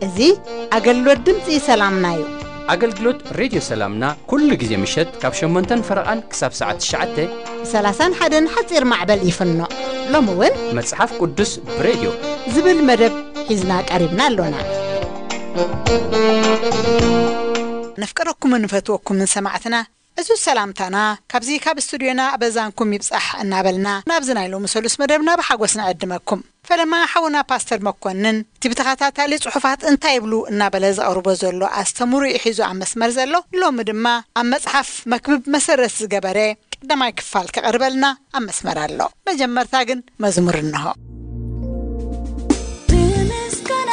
እዚ ኣገልግሎት ድምፂ ሰላምና እዩ። ኣገልግሎት ሬድዮ ሰላምና ኩሉ ግዜ ምሸት ካብ ሸሞንተን ፈረቓን ክሳብ ሰዓት ትሽዓተ። ብ ሰላሳን ሓደን ሓፂር ማዕበል ይፍኖ። ሎሚ እውን መጽሓፍ ቅዱስ ብሬድዮ ዝብል መደብ ሒዝና ቀሪብና ኣሎና። ነፍቀረኩምን ንፈትወኩምን ሰማዕትና፣ እዚ ሰላምታና ካብዚ ካብ ስቱድዮና ኣበዛንኩም ይብጻሕ እናበልና ናብዚ ናይ ሎሚ ሰሉስ መደብና ብሓጎስ ንዕድመኩም። ፈለማ ሓውና ፓስተር መኮንን እቲ ብተኸታታሊ ጽሑፋት እንታይ ይብሉ እናበለ ዘቕርቦ ዘሎ ኣስተምሩ እዩ ሒዙ ኣብ መስመር ዘሎ። ሎሚ ድማ ኣብ መጽሓፍ መክብብ መሰረት ዝገበረ ቀዳማይ ክፋል ከቕርበልና ኣብ መስመር ኣሎ። መጀመርታ ግን መዝሙር እንሆ። ብምስጋና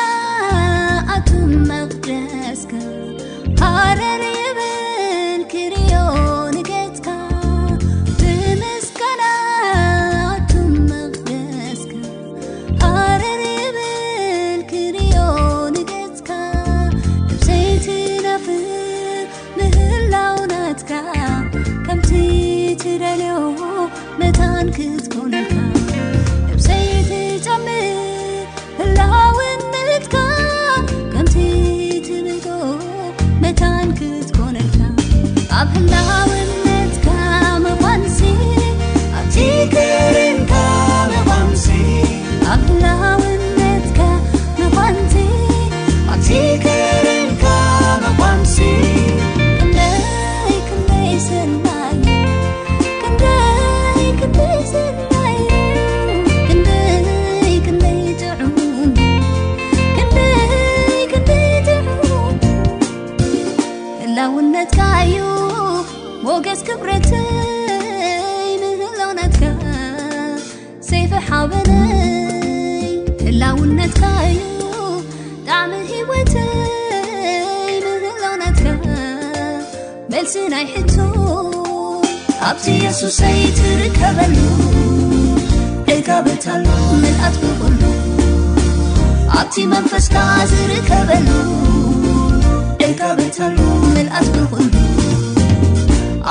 ኣቱም መቕደስካ ሃረር ይብል ክርእዮ ንገጽካ። ብምስጋና ኣቱም መቕደስካ ሃረር ይብል ክርእዮ ንገጽካ። ነብሰይ ትናፍቕ ምህላው ናትካ ከምቲ ትደልዮ መታን ክትኮነልካ። ነብሰይ ትጨምር ህላውነትካ ከምቲ ትብልጎ መታን ክትኮነልካ። ኣብ ህላውነትካ ምዃንሲ ኣብቲ ክርንካ ምዃንሲ ኣብ ህላውነትካ ምዃንሲ ኣብቲ ክርንካ ምዃንሲ ክንደይ ክንደይ ሰናይ ክንደይ ክንደይ ሰናይ ክንደይ ክንደይ ጥዑም ክንደይ ክንደይ ጥዑም ህላውነትካ እዩ ሞገስ ክብረተይ ምህላውነትካ ሰይፊ ሓበነይ ህላውነትካ እዩ ጣዕሚ ህይወተይ ምህላውነትካ መልሲ ናይ ሕቶ ኣብቲ የሱሰይ ትርከበሉ ዕጋበታሉ ምልኣት ብኹሉ ኣብቲ መንፈስካ ዝርከበሉ ዕጋበታሉ ምልኣት ብኹሉ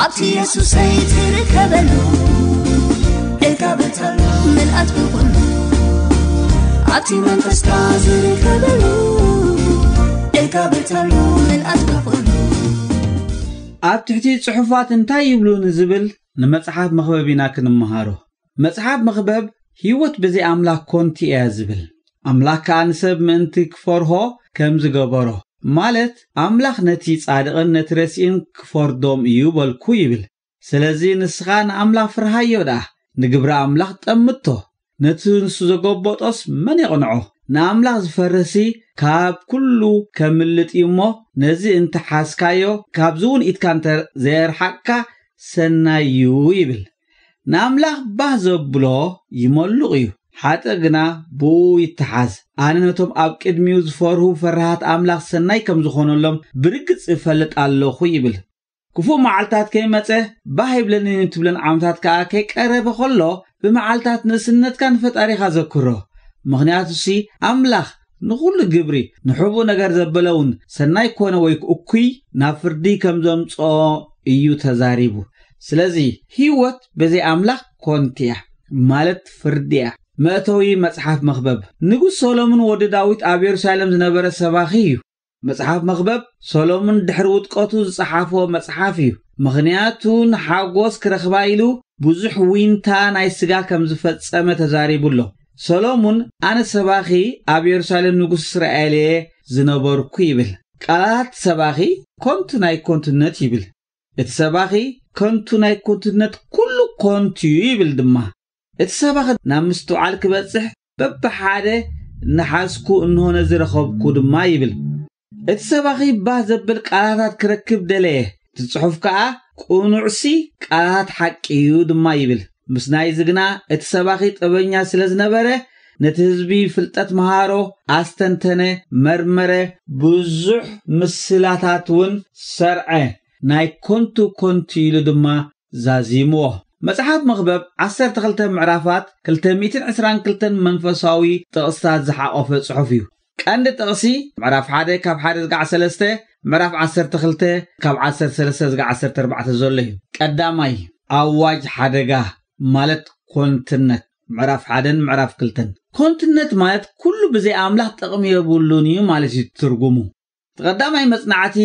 ኣብቲ የሱሰይ ትርከበሉ ዕጋበታሉ ምልኣት ብኹሉ ኣብቲ መንፈስካ ዝርከበሉ ዕጋበታሉ ምልኣት ብኹሉ ኣብ ትሕቲ ጽሑፋት እንታይ ይብሉ ንዝብል ንመጽሓፍ መኽበብ ኢና ክንመሃሮ። መጽሓፍ መኽበብ ህይወት ብዘይ ኣምላኽ ኮንቲ እያ ዝብል። ኣምላኽ ከኣ ንሰብ ምእንቲ ክፈርሆ ከም ዝገበሮ፣ ማለት ኣምላኽ ነቲ ጻድቕን ነቲ ረሲእን ክፈርዶም እዩ በልኩ ይብል። ስለዚ ንስኻ ንኣምላኽ ፍርሃዮ ደኣ፣ ንግብሪ ኣምላኽ ጠምቶ። ነቲ ንሱ ዘጎበጦስ መን የቕንዖ? ንኣምላኽ ዝፈርህሲ ካብ ኩሉ ከምልጥ እዩ እሞ፣ ነዚ እንተ ሓዝካዮ፣ ካብዚ እውን ኢድካ እንተ ዘየርሓቕካ ሰናይ እዩ ይብል። ንኣምላኽ ባህ ዘብሎ ይመሉቕ እዩ፣ ሓጥእ ግና ብኡ ይተሓዝ። ኣነ ነቶም ኣብ ቅድሚኡ ዝፈርሁ ፈራሃት ኣምላኽ ሰናይ ከም ዝኾነሎም ብርግጽ እፈልጥ ኣለኹ ይብል። ክፉእ መዓልታት ከይመጸ ባህ ይብለኒን ትብለን ዓመታት ከኣ ከይቀረበ ከሎ፣ ብመዓልታት ንእስነትካ ንፈጣሪኻ ዘክሮ። ምኽንያቱሲ ኣምላኽ ንኹሉ ግብሪ፣ ንሕቡእ ነገር ዘበለ እውን ሰናይ ኮነ ወይ እኩይ ናብ ፍርዲ ከም ዘምጽኦ እዩ ተዛሪቡ። ስለዚ ህይወት ብዘይ ኣምላኽ ኮንቲ እያ፣ ማለት ፍርዲ እያ። መእተዊ መጽሓፍ መኽበብ። ንጉስ ሰሎሞን ወዲ ዳዊት ኣብ የሩሳሌም ዝነበረ ሰባኺ እዩ። መጽሓፍ መኽበብ ሰሎሞን ድሕሪ ውድቀቱ ዝጸሓፎ መጽሓፍ እዩ። ምኽንያቱ ንሓጎስ ክረኽባ ኢሉ ብዙሕ ዊንታ ናይ ስጋ ከም ዝፈጸመ ተዛሪቡ ኣሎ። ሰሎሞን ኣነ ሰባኺ ኣብ የሩሳሌም ንጉስ እስራኤል እየ ዝነበርኩ ይብል። ቃላት ሰባኺ ከንቱ ናይ ከንቱነት ይብል። እቲ ሰባኺ ከንቱ ናይ ከንቱነት ኩሉ ከንቱ እዩ ይብል ድማ። እቲ ሰባኺ ናብ ምስትውዓል ክበጽሕ በብሓደ እናሓዝኩ እንሆ ነዚ ረኸብኩ ድማ ይብል። እቲ ሰባኺ ባህ ዘብል ቃላታት ክረክብ ደለየ። እቲ ጽሑፍ ከኣ ቅኑዕሲ ቃላት ሓቂ እዩ ድማ ይብል። ምስ ናይዚ ግና እቲ ሰባኺ ጥበበኛ ስለ ዝነበረ ነቲ ህዝቢ ፍልጠት መሃሮ፣ ኣስተንተነ፣ መርመረ፣ ብዙሕ ምስላታት እውን ሰርዐ። ናይ ከንቱ ከንቱ ኢሉ ድማ ዛዚምዎ። መጽሓፍ መኽበብ ዓሰርተ ክልተ ምዕራፋት ክልተ ሚእትን ዕስራን ክልተን መንፈሳዊ ጥቕስታት ዝሓቖፈ ጽሑፍ እዩ። ቀንዲ ጥቕሲ ምዕራፍ ሓደ ካብ ሓደ ዝጋዕ ሰለስተ፣ ምዕራፍ ዓሰርተ ክልተ ካብ ዓሰርተ ሰለስተ ዝጋዕ ዓሰርተ ኣርባዕተ ዘሎ እዩ። ቀዳማይ፣ ኣዋጅ ሓደጋ ማለት ኮንትነት። ምዕራፍ ሓደን ምዕራፍ ክልተን። ኮንትነት ማለት ኩሉ ብዘይ ኣምላኽ ጥቕሚ የብሉን እዩ ማለት እዩ ትርጉሙ። እቲ ቀዳማይ መጽናዕቲ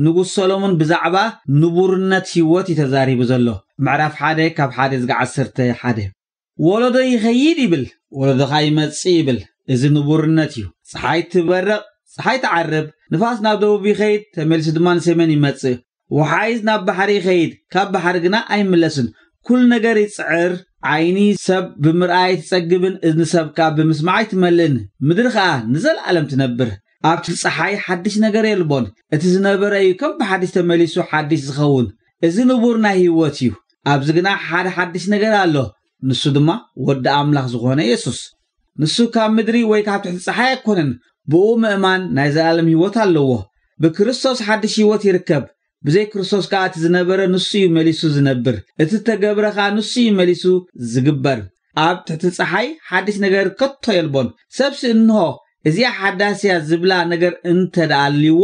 ንጉስ ሰሎሞን ብዛዕባ ንቡርነት ህይወት እዩ ተዛሪቡ ዘሎ። ምዕራፍ ሓደ ካብ ሓደ ዝጋዕ ዓሰርተ ሓደ። ወለዶ ይኸይድ ይብል፣ ወለዶ ኸኣ ይመጽእ ይብል። እዚ ንቡርነት እዩ። ጸሓይ ትበርቕ፣ ጸሓይ ትዓርብ፣ ንፋስ ናብ ደቡብ ይኸይድ፣ ተመሊሱ ድማ ንሰሜን ይመጽእ። ወሓይዝ ናብ ባሕሪ ይኸይድ፣ ካብ ባሕሪ ግና ኣይምለስን። ኩሉ ነገር ይጽዕር። ዓይኒ ሰብ ብምርኣይ ኣይትጸግብን፣ እዝኒ ሰብ ከኣ ብምስማዕ ኣይትመልእን። ምድሪ ኸኣ ንዘለኣለም ትነብር። ኣብቲ ጸሓይ ሓድሽ ነገር የልቦን። እቲ ዝነበረ እዩ ከም ብሓድሽ ተመሊሱ ሓድሽ ዝኸውን። እዚ ንቡር ናይ ህይወት እዩ። ኣብዚ ግና ሓደ ሓድሽ ነገር ኣሎ። ንሱ ድማ ወዲ ኣምላኽ ዝኾነ የሱስ። ንሱ ካብ ምድሪ ወይ ካብ ትሕቲ ጸሓይ ኣይኮነን። ብኡ ምእማን ናይ ዘላለም ህይወት ኣለዎ። ብክርስቶስ ሓድሽ ህይወት ይርከብ። ብዘይ ክርስቶስ ከኣ እቲ ዝነበረ ንሱ እዩ መሊሱ ዝነብር። እቲ እተገብረ ከኣ ንሱ እዩ መሊሱ ዝግበር። ኣብ ትሕቲ ጸሓይ ሓድሽ ነገር ከቶ የልቦን። ሰብሲ እንሆ እዚኣ ሓዳስ እያ ዝብላ ነገር እንተ ደኣ ኣልይዎ፣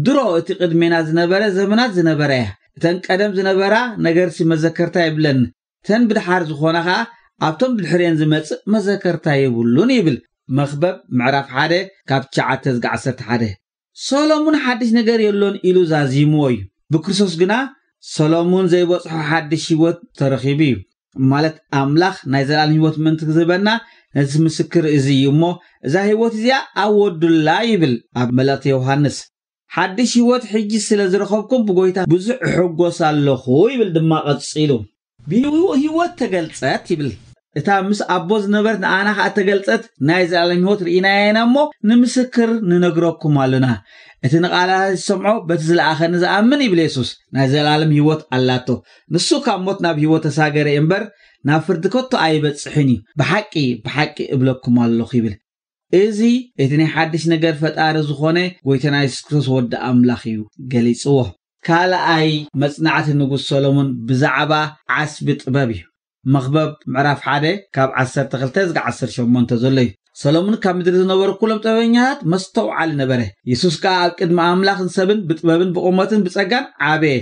ድሮ እቲ ቅድሜና ዝነበረ ዘመናት ዝነበረ እያ። እተን ቀደም ዝነበራ ነገርሲ መዘከርታ የብለን። እተን ብድሓር ዝኾና ኸኣ ኣብቶም ብድሕሪኤን ዝመጽእ መዘከርታ የብሉን ይብል መኽበብ ምዕራፍ ሓደ ካብ ትሽዓተ ዝጋዕ ዓሰርተ ሓደ። ሰሎሙን ሓድሽ ነገር የሎን ኢሉ ዛዚምዎ እዩ። ብክርስቶስ ግና ሰሎሙን ዘይበጽሖ ሓድሽ ህይወት ተረኺቡ እዩ። ማለት ኣምላኽ ናይ ዘላለም ህይወት ምእንቲ ክህበና ነቲ ምስክር እዚ እዩ እሞ፣ እዛ ህይወት እዚኣ ኣወዱላ ይብል ኣብ መልእኽቲ ዮሃንስ። ሓድሽ ህይወት ሕጂ ስለ ዝረኸብኩም ብጎይታ ብዙሕ እሕጎስ ኣለኹ ይብል ድማ ቀጺሉ። ብህይወት ተገልጸት ይብል። እታ ምስ ኣቦ ዝነበረት ንኣና ኸኣ ተገልጸት ናይ ዘላለም ህይወት ርኢናያ ኢና እሞ ንምስክር ንነግረኩም ኣሎና። እቲ ንቓላት ዝሰምዖ በቲ ዝለኣኸኒ ዝኣምን ይብል የሱስ ናይ ዘላለም ህይወት ኣላቶ። ንሱ ካብ ሞት ናብ ህይወት ተሳገረ እምበር ናብ ፍርዲ ከቶ ኣይበጽሕን እዩ። ብሓቂ ብሓቂ እብለኩም ኣለኹ ይብል። እዚ እቲ ናይ ሓድሽ ነገር ፈጣሪ ዝኾነ ጎይታና የሱስ ክርስቶስ ወዲ ኣምላኽ እዩ ገሊጽዎ። ካልኣይ መጽናዕቲ ንጉስ ሰሎሞን ብዛዕባ ዓስቢ ጥበብ እዩ። መኽበብ ምዕራፍ ሓደ ካብ ዓሰርተ ክልተ ዝጋ ዓሰርተ ሸሞንተ ዘሎ እዩ። ሰሎሞን ካብ ምድሪ ዝነበሩ ኩሎም ጥበበኛታት መስተውዓሊ ነበረ። የሱስ ከኣ ኣብ ቅድሚ ኣምላኽን ሰብን ብጥበብን ብቑመትን ብጸጋን ዓበየ።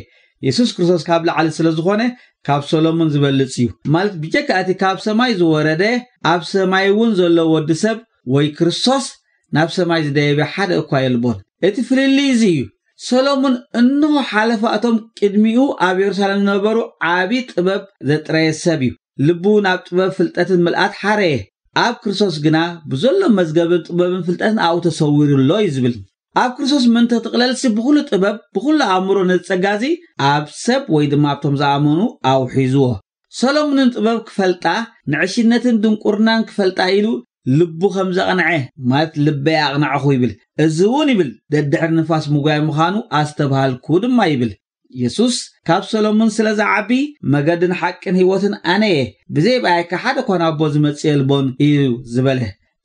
የሱስ ክርስቶስ ካብ ላዕሊ ስለ ዝኾነ ካብ ሰሎሞን ዝበልጽ እዩ። ማለት ብጀካ እቲ ካብ ሰማይ ዝወረደ ኣብ ሰማይ እውን ዘሎ ወዲ ሰብ ወይ ክርስቶስ ናብ ሰማይ ዝደየበ ሓደ እኳ የልቦን። እቲ ፍልልይ እዚ እዩ። ሰሎሞን እንሆ ሓለፋ እቶም ቅድሚኡ ኣብ የሩሳሌም ዝነበሩ ዓቢ ጥበብ ዘጥረየ ሰብ እዩ። ልቡ ናብ ጥበብ ፍልጠትን ምልኣት ሓረየ። ኣብ ክርስቶስ ግና ብዘሎ መዝገብን ጥበብን ፍልጠትን ኣብኡ ተሰዊሩ ኣሎ እዩ ዝብል። ኣብ ክርስቶስ ምእንቲ ትቕለልሲ ብኹሉ ጥበብ ብኹሉ ኣእምሮ ነዚ ጸጋ እዚ ኣብ ሰብ ወይ ድማ ኣብቶም ዝኣመኑ ኣውሒዝዎ። ሰሎሞንን ጥበብ ክፈልጣ ንዕሽነትን ድንቁርናን ክፈልጣ ኢሉ ልቡ ከም ዘቕንዐ ማለት ልበይ ኣቕናዕኹ ይብል። እዚ እውን ይብል ደድሕሪ ንፋስ ምጉያይ ምዃኑ ኣስተብሃልኩ ድማ ይብል። የሱስ ካብ ሰሎሞን ስለ ዝዓቢ መገድን ሓቅን ህይወትን ኣነ እየ፣ ብዘይ ብኣይካ ሓደ እኳ ናብ ኣቦ ዝመጽእ የልቦን እዩ ዝበለ።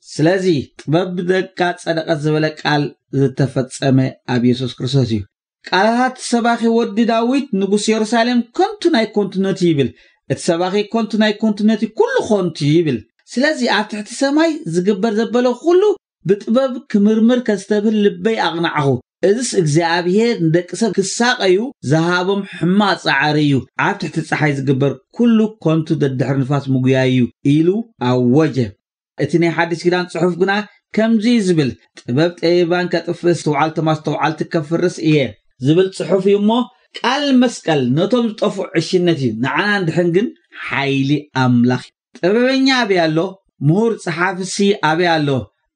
ስለዚ ጥበብ ብደቃ ጸደቐት ዝበለ ቃል ዝተፈጸመ ኣብ የሱስ ክርስቶስ እዩ። ቃላታት ሰባኺ ወዲ ዳዊት ንጉስ የሩሳሌም ከንቱ ናይ ኮንቱነት እዩ ይብል። እቲ ሰባኺ ከንቱ ናይ ኮንቱነት እዩ፣ ኩሉ ከንቱ እዩ ይብል። ስለዚ ኣብ ትሕቲ ሰማይ ዝግበር ዘበለ ኩሉ ብጥበብ ክምርምር ከስተብህል ልበይ ኣቕናዕኹ። እዝስ እግዚኣብሔር ንደቂ ሰብ ክሳቐዩ ዝሃቦም ሕማቕ ጻዕሪ እዩ። ኣብ ትሕቲ ጸሓይ ዝግበር ኩሉ ከንቱ ደድሕሪ ንፋስ ምጉያይ እዩ ኢሉ ኣወጀ። እቲ ናይ ሓድሽ ኪዳን ጽሑፍ ግና ከምዚ እዩ ዝብል፣ ጥበብ ጠቢባን ከጥፍእ፣ ኣስተውዓልቶም ኣስተውዓልቲ ከፍርስ እየ ዝብል ጽሑፍ እዩ እሞ፣ ቃል መስቀል ነቶም ዝጠፍኡ ዕሽነት እዩ፣ ንዓና እንድሕን ግን ሓይሊ ኣምላኽ እዩ። ጥበበኛ ኣበይ ኣሎ? ምሁር ጸሓፍሲ ኣበይ ኣሎ?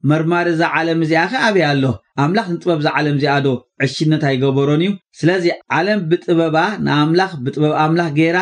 መርማሪ እዛ ዓለም እዚኣ ኸ ኣበይ ኣሎ? ኣምላኽ ንጥበብ እዛ ዓለም እዚኣ ዶ ዕሽነት ኣይገበሮን እዩ? ስለዚ ዓለም ብጥበባ ንኣምላኽ ብጥበብ ኣምላኽ ገይራ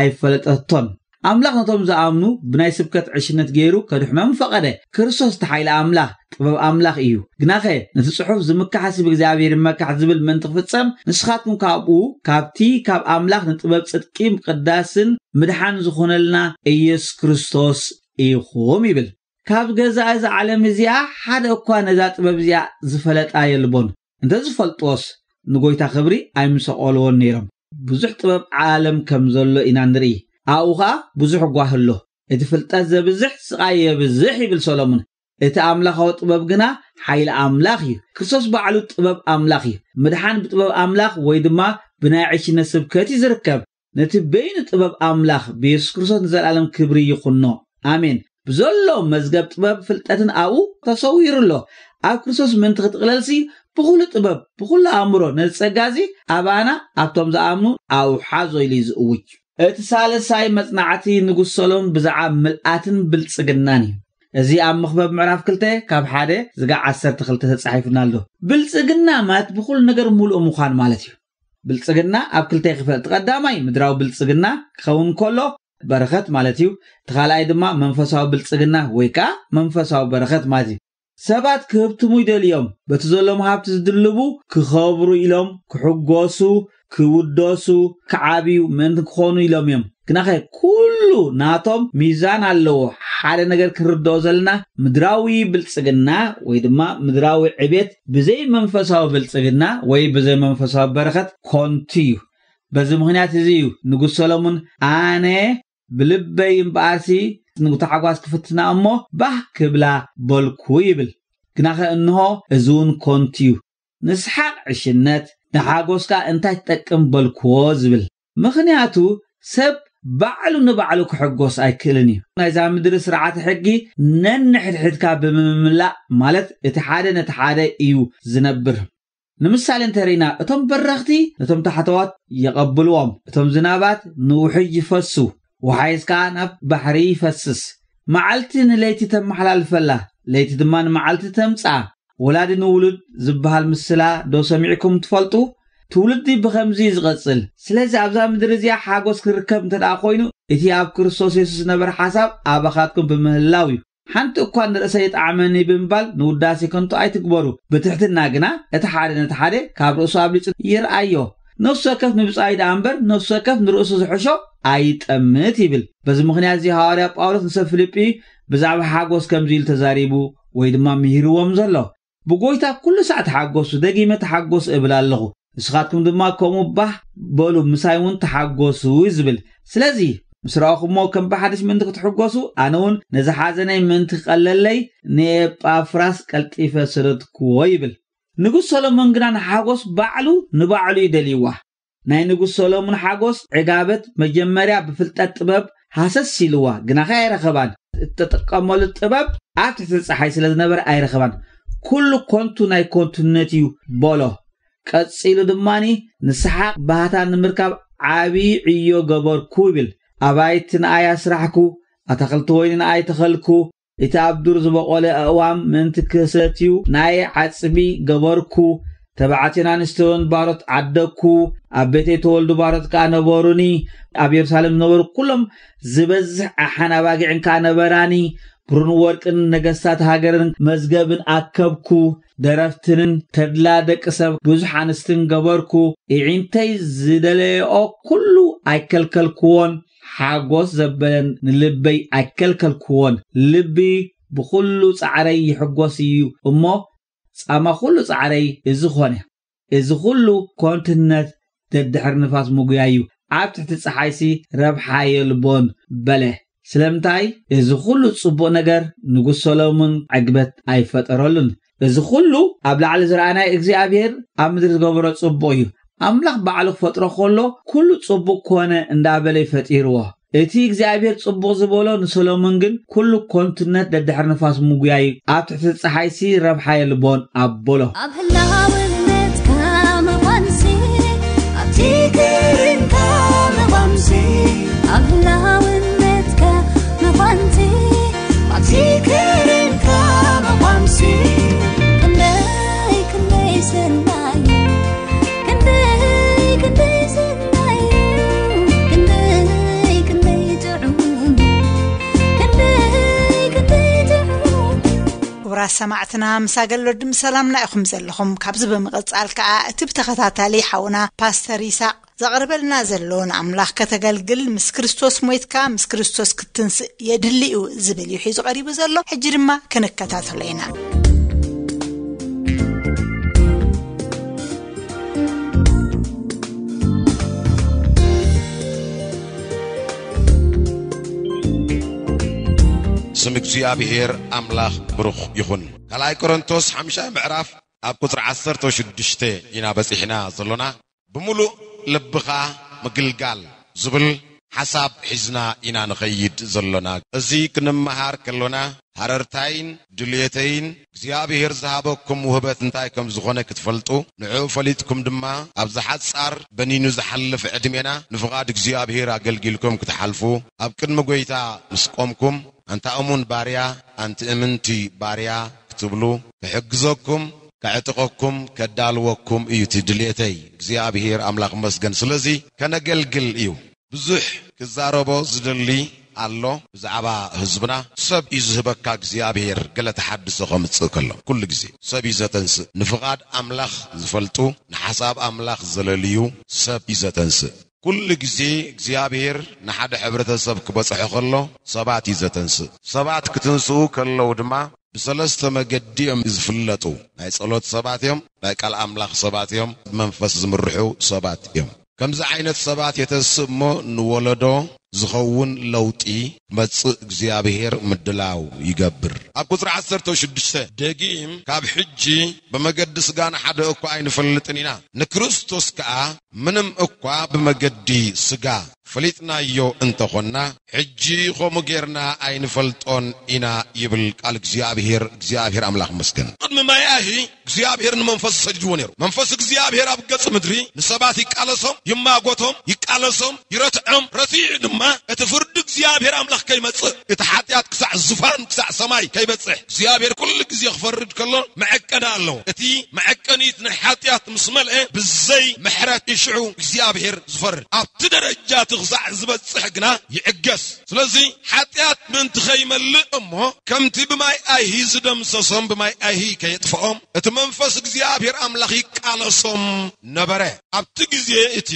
ኣይፈለጠቶን። ኣምላኽ ነቶም ዝኣምኑ ብናይ ስብከት ዕሽነት ገይሩ ከድሕኖም ፈቐደ። ክርስቶስ እቲ ሓይሊ ኣምላኽ ጥበብ ኣምላኽ እዩ። ግናኸ ነቲ ጽሑፍ ዝምካሕ ሰብ እግዚኣብሔር ይመካሕ ዝብል ምእንቲ ክፍጸም ንስኻትኩም ካብኡ ካብቲ ካብ ኣምላኽ ንጥበብ ጽድቂ ምቕዳስን ምድሓን ዝኾነልና ኢየሱስ ክርስቶስ ኢኹም ይብል። ካብ ገዛእ እዛ ዓለም እዚኣ ሓደ እኳ ነዛ ጥበብ እዚኣ ዝፈለጣ የልቦን። እንተ ዝፈልጥዎስ ንጎይታ ክብሪ ኣይምሰቐልዎን ነይሮም። ብዙሕ ጥበብ ዓለም ከም ዘሎ ኢና ንርኢ። ኣብኡ ኸኣ ብዙሕ ጓሂ ኣሎ። እቲ ፍልጠት ዘብዝሕ ስቓይ የብዝሕ ይብል ሰሎሞን። እቲ ኣምላኻዊ ጥበብ ግና ሓይሊ ኣምላኽ እዩ። ክርስቶስ ባዕሉ ጥበብ ኣምላኽ እዩ። ምድሓን ብጥበብ ኣምላኽ ወይ ድማ ብናይ ዕሽነት ስብከት እዩ ዝርከብ። ነቲ በይኑ ጥበብ ኣምላኽ ብየሱስ ክርስቶስ ንዘለኣለም ክብሪ ይኹኖ። ኣሜን። ብዘሎ መዝገብ ጥበብ ፍልጠትን ኣብኡ ተሰዊሩ ኣሎ። ኣብ ክርስቶስ ምእንቲ ክትቕለልሲ ብኹሉ ጥበብ ብኹሉ ኣእምሮ ነዚ ጸጋ እዚ ኣባና ኣብቶም ዝኣምኑ ኣብሓዞ ኢሉ እዩ ዝእውጅ። እቲ ሳልሳይ መጽናዕቲ ንጉስ ሰሎሞን ብዛዕባ ምልኣትን ብልጽግናን እዩ። እዚ ኣብ መኽበብ ምዕራፍ ክልተ ካብ ሓደ ዝጋ ዓሰርተ ክልተ ተጻሒፉና ኣሎ። ብልጽግና ማለት ብኹሉ ነገር ምሉእ ምዃን ማለት እዩ። ብልጽግና ኣብ ክልተ ይኽፈል። እቲ ቀዳማይ ምድራዊ ብልጽግና ክኸውን ከሎ በረኸት ማለት እዩ። እቲ ካልኣይ ድማ መንፈሳዊ ብልጽግና ወይ ከኣ መንፈሳዊ በረኸት ማለት እዩ። ሰባት ክህብትሙ ይደልዮም፣ በቲ ዘሎም ሃብቲ ዝድልቡ ክኸብሩ ኢሎም ክሕጎሱ፣ ክውደሱ፣ ክዓብዩ ምእንቲ ክኾኑ ኢሎም እዮም። ግናኸ ኩሉ ናቶም ሚዛን ኣለዎ። ሓደ ነገር ክንርድኦ ዘለና ምድራዊ ብልጽግና ወይ ድማ ምድራዊ ዕቤት ብዘይ መንፈሳዊ ብልጽግና ወይ ብዘይ መንፈሳዊ በረኸት ኮንቱ እዩ። በዚ ምኽንያት እዚ እዩ ንጉስ ሰሎሞን ኣነ ብልበይ እምበኣርሲ ንታሕጓስ ክፍትና እሞ ባህ ክብላ በልኩ ይብል። ግናኸ እንሆ እዚ እውን ኮንቱ እዩ። ንስሓቕ ዕሽነት፣ ንሓጎስካ እንታይ ትጠቅም በልክዎ ዝብል። ምኽንያቱ ሰብ ባዕሉ ንባዕሉ ክሕጎስ ኣይክእልን እዩ። ናይዛ ምድሪ ስርዓተ ሕጊ ነንሕድሕድካ ብምምላእ ማለት እቲ ሓደ ነቲ ሓደ እዩ ዝነብር። ንምሳሌ እንተርኢና እቶም በረኽቲ ነቶም ታሕተዋት የቐብልዎም፣ እቶም ዝናባት ንውሕጅ ይፈሱ፣ ወሓይዝ ከኣ ናብ ባሕሪ ይፈስስ። መዓልቲ ንለይቲ ተመሓላልፈላ፣ ለይቲ ድማ ንመዓልቲ ተምጽኣ። ወላዲ ንውሉድ ዝበሃል ምስላ ዶ ሰሚዕኩም ትፈልጡ? ትውልዲ ብኸምዚ እዩ ዝቐጽል። ስለዚ ኣብዛ ምድሪ እዚኣ ሓጎስ ክርከብ እንተ ደኣ ኮይኑ እቲ ኣብ ክርስቶስ የሱስ ዝነበረ ሓሳብ ኣባኻትኩም ብምህላው እዩ። ሓንቲ እኳ ንርእሰይ ይጥዓመኒ ብምባል ንውዳሴ ከንቱ ኣይትግበሩ። ብትሕትና ግና እቲ ሓደ ነቲ ሓደ ካብ ርእሱ ኣብሊጹ ይርኣዮ። ነፍሲ ወከፍ ንብጻዩ ደኣ እምበር ነፍሲ ወከፍ ንርእሱ ዝሕሾ ኣይጠምት ይብል። በዚ ምኽንያት እዚ ሃዋርያ ጳውሎስ ንሰብ ፊልጲ ብዛዕባ ሓጎስ ከምዚ ኢሉ ተዛሪቡ ወይ ድማ ምሂርዎም ዘሎ። ብጎይታ ኩሉ ሳዕ ተሓጎሱ፣ ደጊመ ተሓጎሱ እብል ኣለኹ። ንስኻትኩም ድማ ከምኡ ባህ በሉ፣ ምሳይ እውን ተሓጎሱ እዩ ዝብል። ስለዚ ምስ ረኣኹሞ ከም ብሓድሽ ምእንቲ ክትሕጎሱ፣ ኣነ እውን ነዚ ሓዘነይ ምእንቲ ክቐለለይ ንኤጳፍራስ ቀልጢፈ ሰደድክዎ ይብል። ንጉስ ሰሎሞን ግና ንሓጎስ ባዕሉ ንባዕሉ እዩ ደልይዋ። ናይ ንጉስ ሰሎሞን ሓጎስ ዕጋበት መጀመርያ ብፍልጠት ጥበብ ሃሰስ ኢልዋ፣ ግናኸ ኣይረኸባን። እተጠቀመሉ ጥበብ ኣብ ትሕቲ ጸሓይ ስለ ዝነበረ ኣይረኸባን። ኩሉ ኮንቱ ናይ ኮንቱነት እዩ በሎ። ቀጺሉ ድማኒ ንስሓቕ ባህታ ንምርካብ ዓቢ ዕዮ ገበርኩ ይብል። ኣባይቲ ንኣይ ኣስራሕኩ፣ ኣታኽልቲ ወይኒ ንኣይ ተኸልኩ፣ እቲ ኣብ ዱር ዝበቖለ ኣእዋም ምእንቲ ክሰትዩ ናይ ዓጽቢ ገበርኩ። ተባዕትዮን ኣንስትዮን ባሮት ዓደግኩ። ኣብ ቤተይ ተወልዱ ባሮት ከኣ ነበሩኒ። ኣብ የሩሳሌም ዝነበሩ ኩሎም ዝበዝሕ ኣሓን ኣባጊዕን ከኣ ነበራኒ። ብሩን ወርቅን ነገስታት ሃገርን መዝገብን ኣከብኩ። ደረፍትንን ተድላ ደቂ ሰብ ብዙሕ ኣንስትን ገበርኩ። ኢዒንተይ ዝደለየኦ ኩሉ ኣይከልከልክዎን። ሓጎስ ዘበለን ንልበይ ኣይከልከልክዎን። ልቢ ብኹሉ ጻዕረይ ይሕጎስ እዩ እሞ፣ ጻማ ኩሉ ጻዕረይ እዚ ኾነ። እዚ ኹሉ ኮንትነት ደድሕሪ ንፋስ ምጉያይ እዩ። ኣብ ትሕቲ ጸሓይሲ ረብሓ የልቦን በለ። ስለምንታይ? እዚ ኹሉ ጽቡቕ ነገር ንጉስ ሰሎሞን ዕግበት ኣይፈጠረሉን። እዚ ኹሉ ኣብ ላዕሊ ዝረኣናይ እግዚኣብሔር ኣብ ምድሪ ዝገበሮ ጽቡቕ እዩ። ኣምላኽ ባዕሉ ክፈጥሮ ከሎ ኩሉ ጽቡቕ ኮነ እንዳበለ እዩ ፈጢርዎ። እቲ እግዚኣብሔር ጽቡቕ ዝበሎ ንሰሎሞን ግን ኩሉ ኮንትነት ደድሕሪ ንፋስ ምጉያይ እዩ። ኣብ ትሕቲ ጸሓይሲ ረብሓ የልቦን ኣበሎ። ኣብ ህላውነትካ ምዃንሲ፣ ኣብቲ ክርንካ ምዃንሲ፣ ኣብ ህላውነትካ ምዃንሲ፣ ኣብቲ ክርንካ ምዃንሲ፣ ክንደይ ክንደይ ሰናይ፣ ክንደይ ክንደይ ሰናይ፣ ክንደይ ክንደይ ጥዑም፣ ክንደይ ክንደይ ጥዑም። ክቡራት ሰማዕትና፣ ምስ ኣገለድም ሰላምና ኢኹም ዘለኹም። ካብዚ ብምቕጻል ከኣ እቲ ብተኸታታሊ ሓውና ፓስተር ይስሐቅ ዘቕርበልና ዘሎ ንኣምላኽ ከተገልግል ምስ ክርስቶስ ሞይትካ ምስ ክርስቶስ ክትንስእ የድሊ እዩ ዝብል እዩ ሒዙ ቀሪቡ ዘሎ። ሕጂ ድማ ክንከታተሎ ኢና። እግዚኣብሔር ኣምላኽ ብሩኽ ይኹን። ካልኣይ ቆሮንቶስ ሓምሻይ ምዕራፍ ኣብ ቁጽሪ ዓሰርተ ሽዱሽተ ኢና በጺሕና ዘሎና። ብምሉእ ልብኻ ምግልጋል ዝብል ሓሳብ ሒዝና ኢና ንኸይድ ዘሎና። እዚ ክንመሃር ከሎና ሃረርታይን ድልየተይን እግዚኣብሔር ዝሃበኩም ውህበት እንታይ ከም ዝኾነ ክትፈልጡ፣ ንዕኡ ፈሊጥኩም ድማ ኣብዚ ሓጻር በኒኑ ዝሓልፍ ዕድሜና ንፍቓድ እግዚኣብሔር ኣገልጊልኩም ክትሓልፉ፣ ኣብ ቅድሚ ጐይታ ምስ ቆምኩም፣ ኣንታ እሙን ባርያ፣ ኣንቲ እምንቲ ባርያ ክትብሉ ክሕግዘኩም፣ ከዕጥቐኩም፣ ከዳልወኩም እዩ እቲ ድልየተይ። እግዚኣብሔር ኣምላኽ ይመስገን። ስለዚ ከነገልግል እዩ። ብዙሕ ክዛረቦ ዝደሊ ኣሎ ብዛዕባ ህዝብና። ሰብ እዩ ዝህበካ እግዚኣብሔር፣ ገለ ተሓድሶ ከምጽእ ከሎ። ኩሉ ግዜ ሰብ እዩ ዘተንስእ። ንፍቓድ ኣምላኽ ዝፈልጡ፣ ንሓሳብ ኣምላኽ ዘለልዩ ሰብ እዩ ዘተንስእ። ኩሉ ግዜ እግዚኣብሔር ንሓደ ሕብረተሰብ ክበጽሖ ከሎ ሰባት እዩ ዘተንስእ። ሰባት ክትንስኡ ከለዉ ድማ ብሰለስተ መገዲ እዮም ዝፍለጡ። ናይ ጸሎት ሰባት እዮም፣ ናይ ቃል ኣምላኽ ሰባት እዮም፣ መንፈስ ዝምርሑ ሰባት እዮም። ከምዚ ዓይነት ሰባት የተንስእ እሞ ንወለዶ ዝኸውን ለውጢ ክመጽእ እግዚኣብሔር ምድላው ይገብር። ኣብ ቁጽሪ ዓሰርተ ሽዱሽተ፣ ደጊም ካብ ሕጂ ብመገዲ ስጋ ንሓደ እኳ ኣይንፈልጥን ኢና፣ ንክርስቶስ ከኣ ምንም እኳ ብመገዲ ስጋ ፈሊጥናዮ እንተኾንና፣ ሕጂ ኸምኡ ጌርና ኣይንፈልጦን ኢና ይብል ቃል እግዚኣብሔር። እግዚኣብሔር ኣምላኽ ይመስገን። ቅድሚ ማይ ኣሂ እግዚኣብሔር ንመንፈሱ ሰዲድዎ ነይሩ። መንፈስ እግዚኣብሔር ኣብ ገጽ ምድሪ ንሰባት ይቃለሶም፣ ይማጎቶም፣ ይቃለሶም፣ ይረትዖም። ረቲዑ ድማ እቲ ፍርዲ እግዚኣብሔር ኣምላኽ ከይመጽእ፣ እቲ ሓጢኣት ክሳዕ ዙፋን፣ ክሳዕ ሰማይ ከይበጽሕ፣ እግዚኣብሔር ኩሉ ግዜ ክፈርድ ከሎ መዐቀኒ ኣለዎ። እቲ መዐቀኒት ናይ ሓጢኣት ምስ መልአ፣ ብዘይ ምሕረት እዩ ሽዑ እግዚኣብሔር ዝፈርድ። ኣብቲ ደረጃ እቲ ክሳዕ ዝበጽሕ ግና ይዕገስ። ስለዚ ሓጢኣት ምእንቲ ከይመልእ እሞ፣ ከምቲ ብማይ ኣይሂ ዝደምሰሶም ብማይ ኣይሂ ከየጥፍኦም፣ እቲ መንፈስ እግዚኣብሔር ኣምላኽ ይቃለሶም ነበረ። ኣብቲ ግዜ እቲ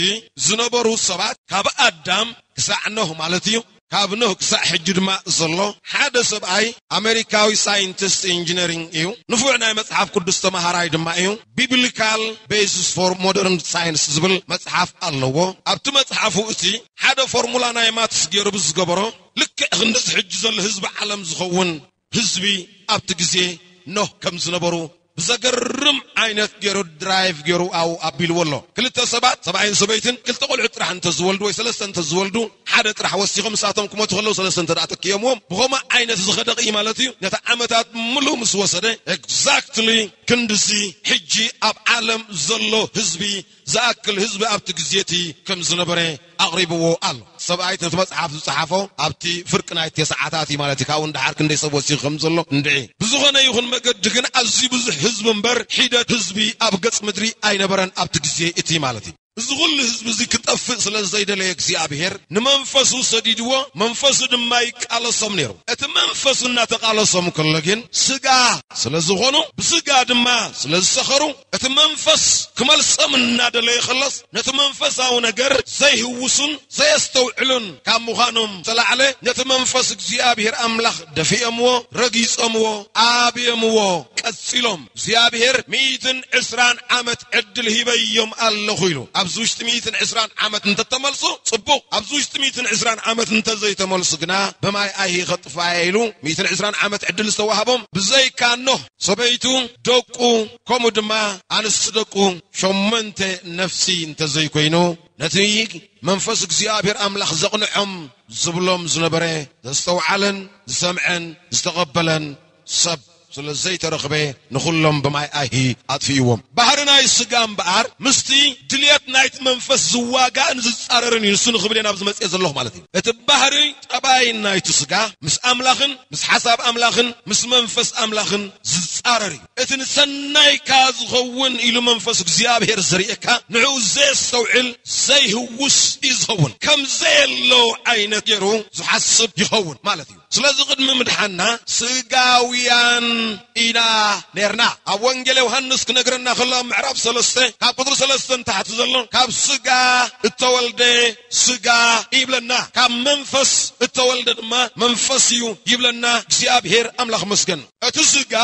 ዝነበሩ ሰባት ካብ ኣዳም ክሳዕ ኖህ ማለት እዩ፣ ካብ ኖህ ክሳዕ ሕጂ ድማ ዘሎ ሓደ ሰብኣይ ኣሜሪካዊ ሳይንቲስት ኢንጂነሪንግ እዩ። ንፉዕ ናይ መጽሓፍ ቅዱስ ተማሃራይ ድማ እዩ። ቢብሊካል ቤሲስ ፎር ሞደርን ሳይንስ ዝብል መጽሓፍ ኣለዎ። ኣብቲ መጽሓፉ እቲ ሓደ ፎርሙላ ናይ ማትስ ገይሩ ብዝገበሮ፣ ልክዕ ክንድዚ ሕጂ ዘሎ ህዝቢ ዓለም ዝኸውን ህዝቢ ኣብቲ ግዜ ኖህ ከም ዝነበሩ ብዘገርም ዓይነት ገይሩ ድራይቭ ገይሩ ኣው ኣቢልዎ ኣሎ። ክልተ ሰባት፣ ሰብኣይን ሰበይትን፣ ክልተ ቆልዑ ጥራሕ እንተዝወልዱ ወይ ሰለስተ እንተዝወልዱ፣ ሓደ ጥራሕ ወሲኾም ንሳቶም ክሞቱ ከለዉ ሰለስተ እንተ ደኣ ተኪኦምዎም፣ ብኸምኡ ዓይነት ዝኸደ እዩ ማለት እዩ። ነቲ ዓመታት ምሉእ ምስ ወሰደ፣ ኤግዛክትሊ ክንድዚ ሕጂ ኣብ ዓለም ዘሎ ህዝቢ ዝኣክል ህዝቢ ኣብቲ ግዜ እቲ ከም ዝነበረ ኣቕሪብዎ ኣሎ። ሰብኣይ ነቲ መጽሓፍ ዝጸሓፎ ኣብቲ ፍርቂ ናይ ተስዓታት እዩ ማለት እዩ። ካብኡ ንደሓር ክንደይ ሰብ ወሲኹ ከም ዘሎ እንድዒ። ብዝኾነ ይኹን መገዲ ግን ኣዝዩ ብዙሕ ህዝቢ እምበር ሒደት ህዝቢ ኣብ ገጽ ምድሪ ኣይነበረን ኣብቲ ግዜ እቲ ማለት እዩ። እዚ ኩሉ ህዝቢ እዚ ክጠፍእ ስለ ዘይደለየ እግዚኣብሔር ንመንፈሱ ሰዲድዎ፣ መንፈሱ ድማ ይቃለሶም ነይሩ። እቲ መንፈሱ እናተቃለሶም ከሎ ግን ስጋ ስለ ዝኾኑ፣ ብስጋ ድማ ስለ ዝሰኸሩ፣ እቲ መንፈስ ክመልሶም እናደለየ ከሎስ፣ ነቲ መንፈሳዊ ነገር ዘይህውሱን ዘየስተውዕሉን ካብ ምዃኖም ዝተላዕለ፣ ነቲ መንፈስ እግዚኣብሔር ኣምላኽ ደፊኦምዎ፣ ረጊጾምዎ፣ ኣብዮምዎ። ቀጺሎም፣ እግዚኣብሔር ሚእትን ዕስራን ዓመት ዕድል ሂበዮም ኣለኹ ኢሉ። ኣብዚ ውሽጢ ሚእትን ዕስራን ዓመት እንተተመልሱ ጽቡቕ፣ ኣብዚ ውሽጢ ሚእትን ዕስራን ዓመት እንተዘይተመልሱ ግና ብማይ ኣይሂ ከጥፍኣየ ኢሉ ሚእትን ዕስራን ዓመት ዕድል ዝተዋህቦም ብዘይካ ኖህ ሰበይቱ፣ ደቁ፣ ከምኡ ድማ ኣንስቲ ደቁ፣ ሸሞንተ ነፍሲ እንተዘይኮይኑ፣ ነቲ መንፈስ እግዚኣብሔር ኣምላኽ ዘቕንዖም ዝብሎም ዝነበረ ዘስተውዓለን ዝሰምዐን ዝተቐበለን ሰብ ስለ ዘይተረኽበ፣ ንኹሎም ብማይ ኣይሂ ኣጥፊእዎም። ባህሪ ናይ ስጋ እምበኣር ምስቲ ድልየት ናይቲ መንፈስ ዝዋጋእን ዝጻረርን እዩ። ንሱ ንኽብል እየ ናብዚ መጽኤ ዘለኹ ማለት እዩ። እቲ ባህሪ ጠባይ ናይቲ ስጋ ምስ ኣምላኽን ምስ ሓሳብ ኣምላኽን ምስ መንፈስ ኣምላኽን ዝጻረር እዩ። እቲ ንሰናይካ ዝኸውን ኢሉ መንፈስ እግዚኣብሔር ዝርእየካ፣ ንዕኡ ዘየስተውዕል ዘይህውስ እዩ ዝኸውን። ከም ዘየሎ ዓይነት ገይሩ ዝሓስብ ይኸውን ማለት እዩ። ስለዚ ቅድሚ ምድሓንና ስጋውያን ኢና ነርና። ኣብ ወንጌል ዮሃንስ ክነግረና ከሎ ኣብ ምዕራፍ ሰለስተ ካብ ቁጽሪ ሰለስተ ንታሕቲ ዘሎ፣ ካብ ስጋ እተወልደ ስጋ ይብለና፣ ካብ መንፈስ እተወልደ ድማ መንፈስ እዩ ይብለና። እግዚኣብሔር ኣምላኽ መስገን። እቲ ስጋ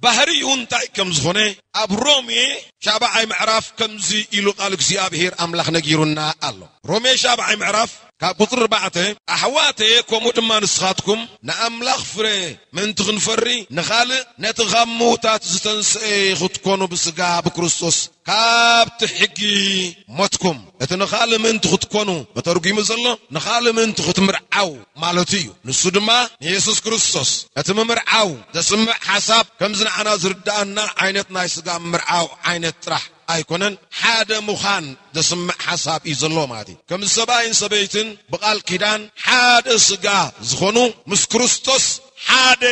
ባህሪኡ እንታይ ከም ዝኾነ ኣብ ሮሜ ሻብዓይ ምዕራፍ ከምዚ ኢሉ ቃል እግዚኣብሔር ኣምላኽ ነጊሩና ኣሎ። ሮሜ ሻብዓይ ምዕራፍ ካብ ቁጽሪ ኣርባዕተ፣ ኣሕዋተየ፣ ከምኡ ድማ ንስኻትኩም ንኣምላኽ ፍረ ምእንቲ ክንፈሪ፣ ንኻልእ ነቲ ካብ ምዉታት ዝተንስኤ ክትኮኑ ብስጋ ብክርስቶስ ካብቲ ሕጊ ሞትኩም። እቲ ንኻልእ ምእንቲ ክትኮኑ ተተርጒሙ ዘሎ፣ ንኻልእ ምእንቲ ክትምርዓው ማለቱ እዩ። ንሱ ድማ ንየሱስ ክርስቶስ። እቲ ምምርዓው ዘስምዕ ሓሳብ ከምዚ ንዓና ዝርድኣና ዓይነት ናይ ስጋ ምምርዓው ዓይነት ጥራሕ ኣይኮነን፣ ሓደ ምዃን ዘስምዕ ሓሳብ እዩ ዘሎ ማለት እዩ። ከም ሰብኣይን ሰበይትን ብቓል ኪዳን ሓደ ስጋ ዝኾኑ ምስ ክርስቶስ ሓደ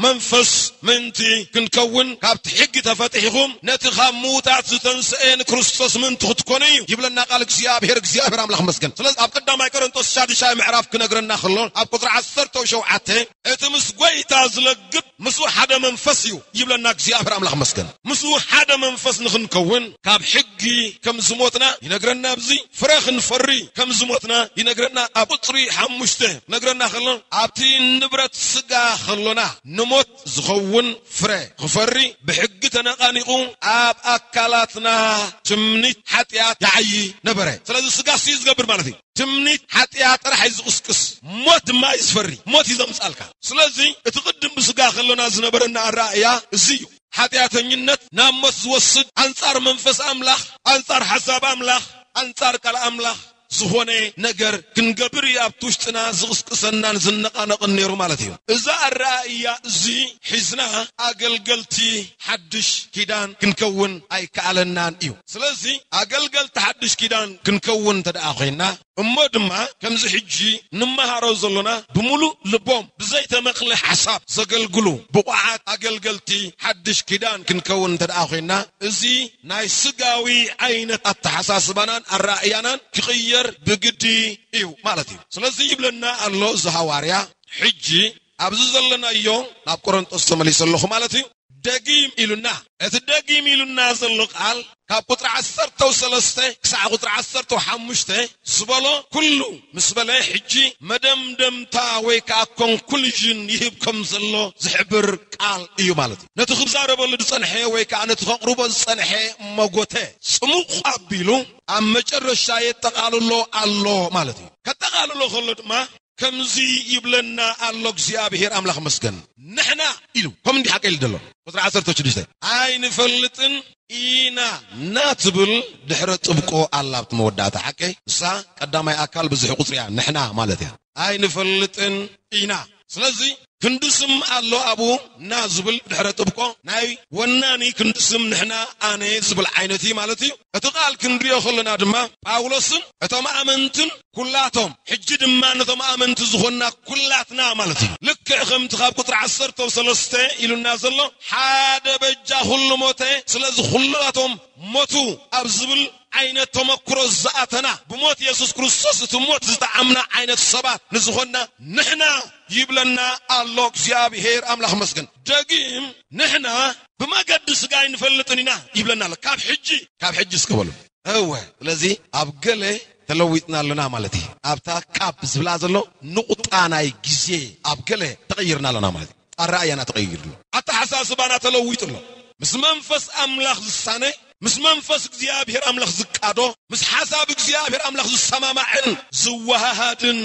መንፈስ ምእንቲ ክንከውን ካብቲ ሕጊ ተፈቲሕኹም ነቲ ካብ ምዉታት ዝተንስኤ ንክርስቶስ ምእንቲ ክትኮኑ እዩ ይብለና ቃል እግዚኣብሔር። እግዚኣብሔር ኣምላኽ መስገን። ስለዚ ኣብ ቀዳማይ ቆሮንቶስ ሻድሻይ ምዕራፍ ክነግረና ከሎ ኣብ ቁጽሪ ዓሰርተ ሸውዓተ እቲ ምስ ጐይታ ዝለግብ ምስኡ ሓደ መንፈስ እዩ ይብለና እግዚኣብሔር ኣምላኽ መስገን። ምስኡ ሓደ መንፈስ ንኽንከውን ካብ ሕጊ ከም ዝሞትና ይነግረና። ኣብዚ ፍረ ክንፈሪ ከም ዝሞትና ይነግረና። ኣብ ቁጽሪ ሓሙሽተ ይነግረና ከሎ ኣብቲ ንብረት ስጋ ከሎና ንሞት ዝኸውን ፍረ ክፈሪ ብሕጊ ተነቓኒቑ ኣብ ኣካላትና ትምኒት ሓጢኣት ይዓዪ ነበረ። ስለዚ ስጋ ሲ ዝገብር ማለት እዩ። ትምኒት ሓጢኣት ጥራሕ እዩ ዝቕስቅስ፣ ሞት ድማ እዩ ዝፈሪ፣ ሞት እዩ ዘምጻልካ። ስለዚ እቲ ቅድም ብስጋ ከሎና ዝነበረና ኣረኣእያ እዚ እዩ። ሓጢኣተኝነት ናብ ሞት ዝወስድ፣ ኣንጻር መንፈስ ኣምላኽ፣ ኣንጻር ሓሳብ ኣምላኽ፣ ኣንጻር ቃል ኣምላኽ ዝኾነ ነገር ክንገብር እዩ ኣብቲ ውሽጥና ዝቕስቅሰናን ዝነቓነቕን ነይሩ ማለት እዩ። እዛ ኣረኣእያ እዚ ሒዝና ኣገልገልቲ ሓድሽ ኪዳን ክንከውን ኣይከኣለናን እዩ። ስለዚ ኣገልገልቲ ሓድሽ ኪዳን ክንከውን እንተ ደኣ ኮይንና፣ እሞ ድማ ከምዚ ሕጂ ንመሃሮ ዘሎና ብምሉእ ልቦም ብዘይተመቕለ ሓሳብ ዘገልግሉ ብቑዓት ኣገልገልቲ ሓድሽ ኪዳን ክንከውን እንተ ደኣ ኮይንና፣ እዚ ናይ ስጋዊ ዓይነት ኣተሓሳስባናን ኣረኣእያናን ክቕየር ብግዲ እዩ ማለት እዩ። ስለዚ ይብለና ኣሎ እዚ ሃዋርያ፣ ሕጂ ኣብዚ ዘለናዮ ናብ ቆሮንጦስ ተመሊሰ ኣለኹ ማለት እዩ። ደጊም ኢሉና። እቲ ደጊም ኢሉና ዘሎ ቃል ካብ ቁጽሪ ዓሰርተ ሰለስተ ክሳዕ ቁጽሪ ዓሰርተ ሓሙሽተ ዝበሎ ኩሉ ምስ በለ፣ ሕጂ መደምደምታ ወይ ከዓ ኮንኩሉዥን ይህብ ከም ዘሎ ዝሕብር ቃል እዩ ማለት እዩ። ነቲ ክዛረበሉ ዝጸንሐ ወይ ከዓ ነቲ ከቕርቦ ዝጸንሐ መጎተ ጽሙቕ ኣቢሉ ኣብ መጨረሻ የጠቓልሎ ኣሎ ማለት እዩ። ከጠቓልሎ ከሎ ድማ ከምዚ ይብለና ኣሎ እግዚኣብሔር ኣምላኽ መስገን። ንሕና ኢሉ፣ ከም እንዲህ ሓቀ ኢሉ ዘሎ። ቁጽሪ ዓሰርተ ሽዱሽተ፣ ኣይንፈልጥን ኢና ናትብል ድሕረ ጥብቆ ኣላ ኣብቲ መወዳእታ። ሓቀይ እሳ ቀዳማይ ኣካል ብዙሕ ቁጽሪ እያ፣ ንሕና ማለት እያ። ኣይንፈልጥን ኢና። ስለዚ ክንዲ ስም ኣሎ ኣብኡ፣ ና ዝብል ድሕረ ጥብቆ ናይ ወናኒ ክንዲ ስም ንሕና ኣነ ዝብል ዓይነት እዩ ማለት እዩ። እቲ ቃል ክንሪኦ ከለና ድማ ጳውሎስን እቶም ኣመንትን ኩላቶም፣ ሕጂ ድማ ነቶም ኣመንቲ ዝኾንና ኩላትና ማለት እዩ። ልክዕ ከምቲ ካብ ቁጽሪ ዓሰርተ ሰለስተ ኢሉና ዘሎ፣ ሓደ በጃ ኩሉ ሞተ፣ ስለዚ ኩላቶም ሞቱ ኣብ ዝብል ዓይነት ተመክሮ ዝኣተና፣ ብሞት የሱስ ክርስቶስ እቲ ሞት ዝጠዓምና ዓይነት ሰባት ንዝኾንና ንሕና ይብለና ኣሎ እግዚኣብሔር ኣምላኽ መስገን። ደጊም ንሕና ብመገዲ ስጋ ኣይንፈልጥን ኢና ይብለና ኣሎ። ካብ ሕጂ፣ ካብ ሕጂ እስከ በሉ። እወ፣ ስለዚ ኣብ ገለ ተለዊጥና ኣለና ማለት እዩ። ኣብታ ካብ ዝብላ ዘሎ ንቑጣ ናይ ግዜ ኣብ ገለ ተቐይርና ኣለና ማለት እዩ። ኣረኣእያና ተቐይሩ ኣሎ። ኣተሓሳስባና ተለዊጡ ኣሎ። ምስ መንፈስ ኣምላኽ ዝሳነ፣ ምስ መንፈስ እግዚኣብሔር ኣምላኽ ዝቃዶ፣ ምስ ሓሳብ እግዚኣብሔር ኣምላኽ ዝሰማማዕን ዝወሃሃድን፣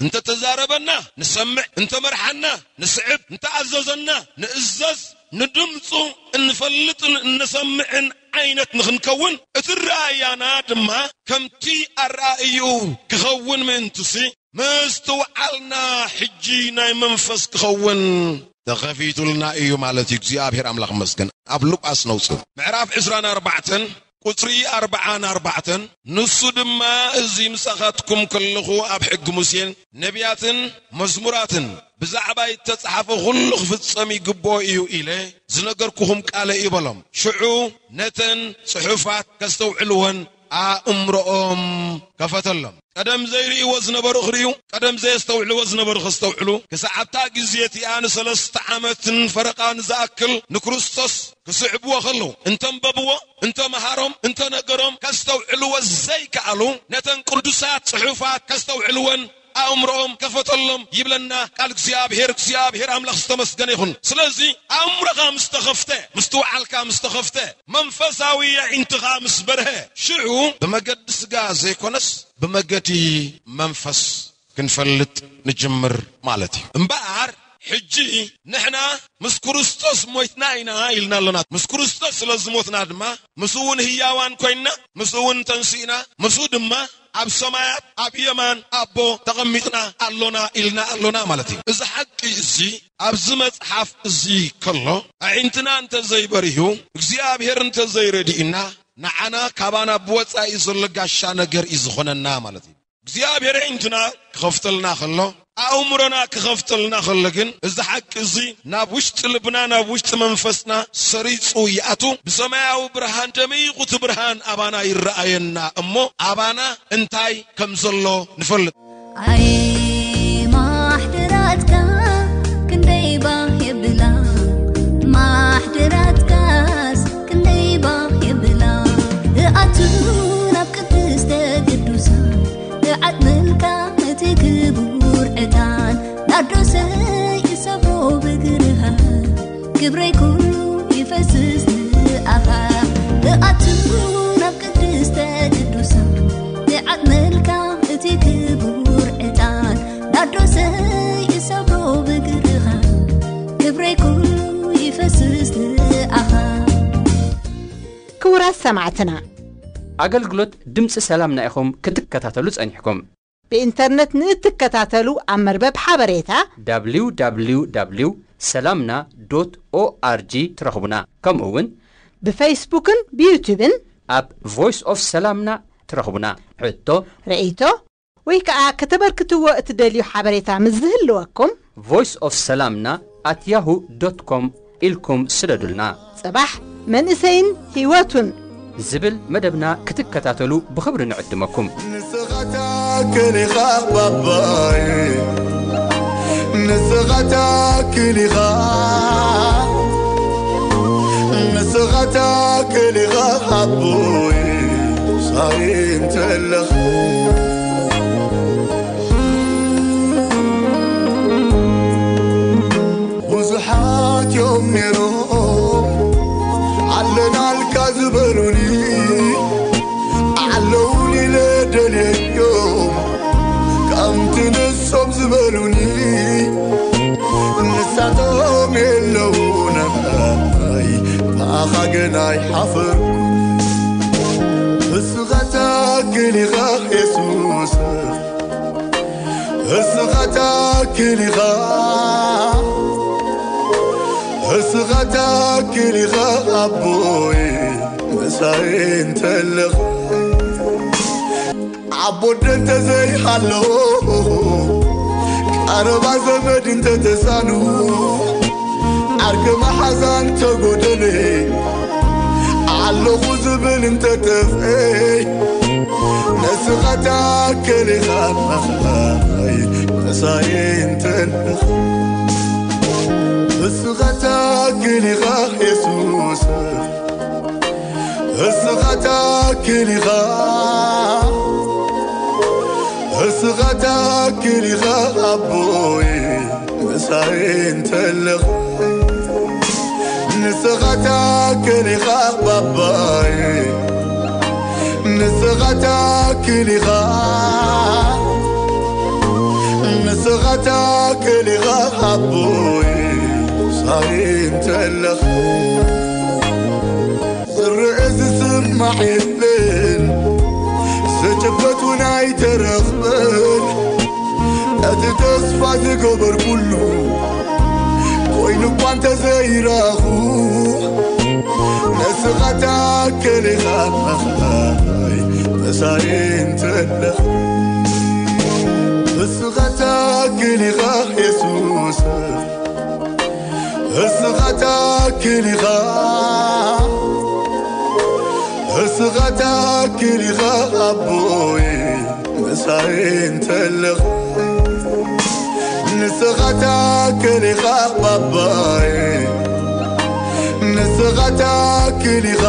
እንተ ተዛረበና ንሰምዕ፣ እንተ መርሓና ንስዕብ፣ እንተ ኣዘዘና ንእዘዝ፣ ንድምፁ እንፈልጥን እንሰምዕን ዓይነት ንኽንከውን፣ እቲ ረኣያና ድማ ከምቲ ኣረኣእዩ ክኸውን ምእንትሲ፣ ምስትውዓልና ሕጂ ናይ መንፈስ ክኸውን ተኸፊቱልና እዩ ማለት እዩ። እግዚኣብሔር ኣምላኽ መስገን። ኣብ ሉቃስ ነውጽእ ምዕራፍ ዕስራን ኣርባዕተን ቁጽሪ ኣርብዓን ኣርባዕተን፣ ንሱ ድማ፣ እዚ ምሳኻትኩም ከለኹ ኣብ ሕጊ ሙሴን ነቢያትን መዝሙራትን ብዛዕባይ እተጻሕፈ ኩሉ ክፍጸም ይግብኦ እዩ ኢለ ዝነገርኩኹም ቃለ እዩ በሎም። ሽዑ ነተን ጽሑፋት ከስተውዕልወን ኣእምሮኦም ከፈተሎም። ቀደም ዘይርእይዎ ዝነበሩ ክርእዩ፣ ቀደም ዘየስተውዕልዎ ዝነበሩ ከስተውዕሉ፣ ክሳዕ ኣብታ ግዜ እቲኣ ንሰለስተ ዓመትን ፈረቓን ዝኣክል ንክርስቶስ ክስዕብዎ ከለዉ፣ እንተንበብዎ፣ እንተመሃሮም፣ እንተነገሮም ከስተውዕልዎ ዘይከኣሉ፣ ነተን ቅዱሳት ጽሑፋት ከስተውዕልወን ኣእምሮኦም ከፈተሎም ይብለና ቃል እግዚኣብሔር። እግዚኣብሔር ኣምላኽ ዝተመስገነ ይኹን። ስለዚ ኣእምሮኻ ምስ ተኸፍተ፣ ምስትውዓልካ ምስ ተኸፍተ፣ መንፈሳዊ ኣዒንትኻ ምስ በርሀ፣ ሽዑ ብመገዲ ስጋ ዘይኮነስ ብመገዲ መንፈስ ክንፈልጥ ንጅምር ማለት እዩ። እምበኣር ሕጂ ንሕና ምስ ክርስቶስ ሞይትና ኢና ኢልና ኣሎና። ምስ ክርስቶስ ስለ ዝሞትና ድማ ምስኡ እውን ህያዋን ኮይንና፣ ምስኡ እውን ተንሲእና፣ ምስኡ ድማ ኣብ ሰማያት ኣብ የማን ኣቦ ተቐሚጥና ኣሎና ኢልና ኣሎና ማለት እዩ። እዚ ሓቂ እዚ ኣብዚ መጽሓፍ እዚ ከሎ፣ ኣዒንትና እንተ ዘይበሪሁ፣ እግዚኣብሔር እንተ ዘይረድእና፣ ንዓና ካባና ብወጻኢ ዘሎ ጋሻ ነገር እዩ ዝኾነና ማለት እዩ። እግዚኣብሔር ኣዒንትና ክኸፍተልና ከሎ፣ ኣእምሮና ክኸፍተልና ከሎ ግን፣ እዚ ሓቂ እዚ ናብ ውሽጢ ልብና፣ ናብ ውሽጢ መንፈስና ሰሪጹ ይኣቱ። ብሰማያዊ ብርሃን ደሚቑ እቲ ብርሃን ኣባና ይረኣየና እሞ፣ ኣባና እንታይ ከም ዘሎ ንፈልጥ። ኣይ ማሕደራትካ ክንደይ ባህ የብላ፣ ማሕደራትካስ ክንደይ ባህ የብላ። እኣቱ ናብ ቅድስተ ቅዱሳን፣ እዓጥምልካ እቲ ክቡር ዕጣን፣ ናርዶሰይ እሰቦ ብግርኻ፣ ክብረይ ኩሉ ይፈስስ ንኣኻ። እኣቱ ናብ ቅድስተ ቅዱሳን፣ እዓጥምልካ እቲ ክቡር ዕጣን፣ ናርዶሰይ እሰቦ ብግርኻ፣ ክብረይ ኩሉ ይፈስስ ንኣኻ። ክቡራት ሰማዕትና፣ ኣገልግሎት ድምፂ ሰላምና ኢኹም ክትከታተሉ ጸኒሕኩም። ብኢንተርነት ንእትከታተሉ ኣብ መርበብ ሓበሬታ www ሰላምና ዶት ኦኣርጂ ትረኽቡና። ከምኡ እውን ብፌስቡክን ብዩቱብን ኣብ ቮይስ ኦፍ ሰላምና ትረኽቡና። ሕቶ፣ ርእይቶ ወይ ከዓ ከተበርክትዎ እትደልዩ ሓበሬታ ምስ ዝህልወኩም፣ ቮይስ ኦፍ ሰላምና ኣት ያሁ ዶት ኮም ኢልኩም ስደዱልና። ጽባሕ መንእሰይን ህይወቱን ዝብል መደብና ክትከታተሉ ብኽብሪ ንዕድመኩም። ንስኻ ትኣክል ኢኻ ባባይ፣ ንስኻ ትኣክል ኢኻ፣ ንስኻ ትኣክል ኢኻ ኣቦይ፣ ሳይ እንተለኻ። ብዙሓት እዮም ነይሮም ኣለናልካ ዝበሉኒ፣ ኣለውን ኢለ ደልየዮም ከምቲ ንሶም ዝበሉኒ፣ ንሳቶም የለውናይ ብኣኻ ግን ኣይሓፈርኩ። እስኻ ትኣክል ኢኻ የሱስ፣ እስኻ ትኣክል ኢኻ፣ እስኻ ትኣክል ኢኻ ኣቦይ ምሳይ እንተለኻ። ዓቦደ እንተዘይሃለኹ፣ ቀረባ ዘመድ እንተተሳኑ፣ ዓርኪ መሓዛ እንተጎደለ፣ ኣለኹ ዝብል እንተጠፍኤ፣ ንስኻ ትኣክል ኢኻ ምሳይ እንተለኻ። እስኻ ትኣክል ኢኻ የሱስ፣ እስኻ ትኣክል ኢኻ፣ እስኻ ትኣክል ኢኻ ኣቦይ ምሳይ እንተለኻ። ንስኻ ትኣክል ኢኻ ባባይ፣ ንስኻ ትኣክል ኢኻ፣ ንስኻ ትኣክል ኢኻ ኣቦይ ምሳይ እንተለኻ። ዝርእ ዝስማዕ የለን፣ ዝጭበጥ እውን ኣይተረኽበን። እቲ ተስፋ ዝገበርኩሉ ኮይኑ እኳ እንተዘይረኣኹ፣ ንስኻ ትኣክል ኢኻ ምሳይ እንተለኻ። እስኻ ትኣክል ኢኻ የሱስ፣ እስኻ ትኣክል ኢኻ፣ እስኻ ትኣክል ኢኻ ኣቦይ ምሳይ እንተለኻ። ንስኻ ትኣክል ኢኻ ባባይ፣ ንስኻ ትኣክል ኢኻ፣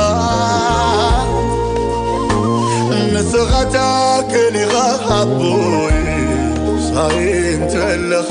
ንስኻ ትኣክል ኢኻ ኣቦይ ምሳይ ኣይንተለኽ